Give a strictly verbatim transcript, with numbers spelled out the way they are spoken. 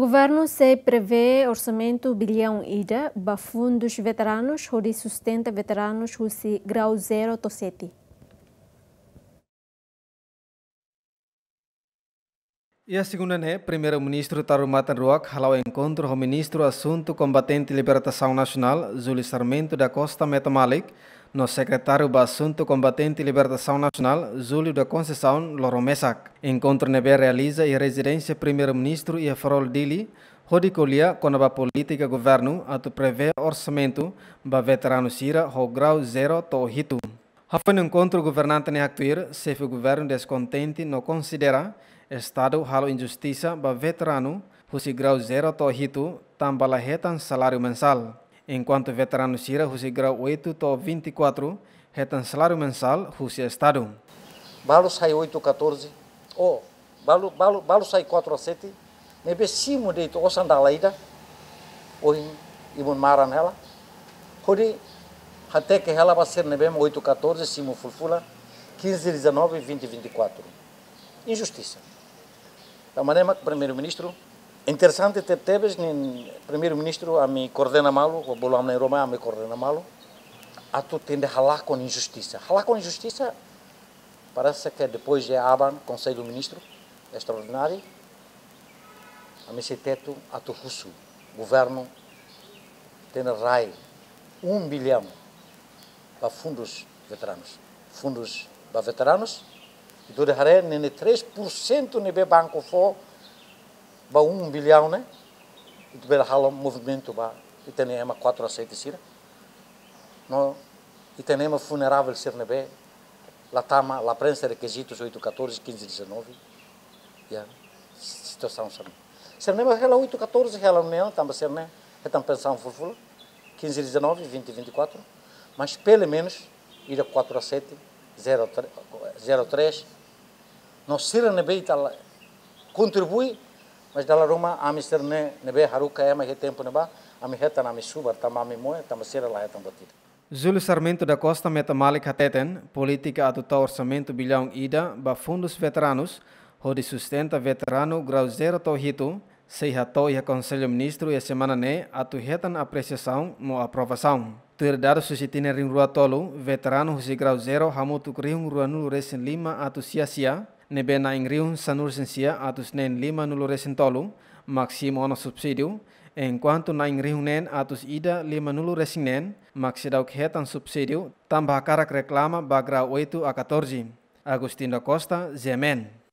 Governu sei prevee orsamentu biliaun ida ba fundus veteranus hodi sustenta veteranus husi grau zero to'o sete. Iha segunda ne'e, Primeiru-Ministru Taur Matan Ruak hala'o enkontru ho Ministru Asuntu Kombatente Libertasaun Nasionál, Júlio Sarmento da Costa Meta Malik, no Sekretáriu ba Asuntu Kombatente Libertasaun Nasionál, Júlio da Conceição, loron mesak. Enkontru ne'ebé realiza iha rezidénsia Primeiru-Ministru iha Farol, Dili, hodi ko'alia kona-ba polítika governu atu prevee orsamentu ba veteranu sira ho grau zero to'o hitu. Hafoin enkontru, governante ne'e haktuir, xefe governu deskontente no konsidera Estadu halo injustisa ba veteranu husi grau zero to'o hitu tanba la hetan saláriu mensál, enkuantu veteranu sira husi grau oito to'o vinte e quatro hetan saláriu mensál husi Estadu. Balu sai oito catorze, oh, balu, balu, balu sai quatro a sete, ne'ebé simu de'it osan dala ida, ohin ibun maran hela, hodi hateke hela ba sira ne'ebé oito catorze, simu fulan-fulan, quinze dezanove, vinte vinte e quatro. Injustisa. Tanba ne'e mak Primeiru-Ministru, interesante tebetebes, nia Primeiru-Ministru ami koordena malu, ho bolu ami na'in-rua mai ami koordena malu, atu tenke halakon injustisa. Halakon injustisa, parese ke depois de aban Konsellu Ministru Estraordináriu, ami sei tetu atu husu governu tenke rai um bilhão ba fundus veteranus. Fundus ba veteranus, ita haree ne'e três por cento ne'ebé banku fó ba um bilhão ne'e, ita bele halo movimentu ba ita-nia ema quatro a sete sira. No ita-nia ema vulnerável sira ne'ebé la tama, la preenxe rekizitus oito catorze, quinze dezanove. Ya, situasaun sira-ne'e. Sira ne'ebé hela oito catorze, hela ne'e tanba sira-ne'e hetan pensaun fulan-fulan, quinze dezanove, vinte vinte e quatro, mas pelumenus ida quatro a sete, zero três. No sira ne'ebé ita la kontribui, mas dala ruma ami sira-ne'e, ne'ebé haruka ema iha tempu ne'ebá, ami hetan ami subar, tanba ami moe, tanba sira la hetan buat ida. Júlio Sarmento da Costa Meta Malik hateten, polítika atu tau orsamentu biliaun ida ba fundus veteranus, hodi sustenta veteranu grau zero to'o hitu, sei hato'o iha Konsellu Ministru iha semana ne'e atu hetan apresiasaun no aprovasaun. Tuir dadus husi tinan rihun rua tolu, veteranu husi grau zero hamutuk rihun rua nulu resin lima atus sia sia, ne'ebé na'in rihun sanulu resin sia atus neen lima nulu resin tolu mak simu ona subsídiu, enkuantu na'in rihun neen atus ida lima nulu resin neen mak seidauk hetan subsídiu, tanba hakarak reklama ba grau oito a catorze. Agostinho da Costa, G M N.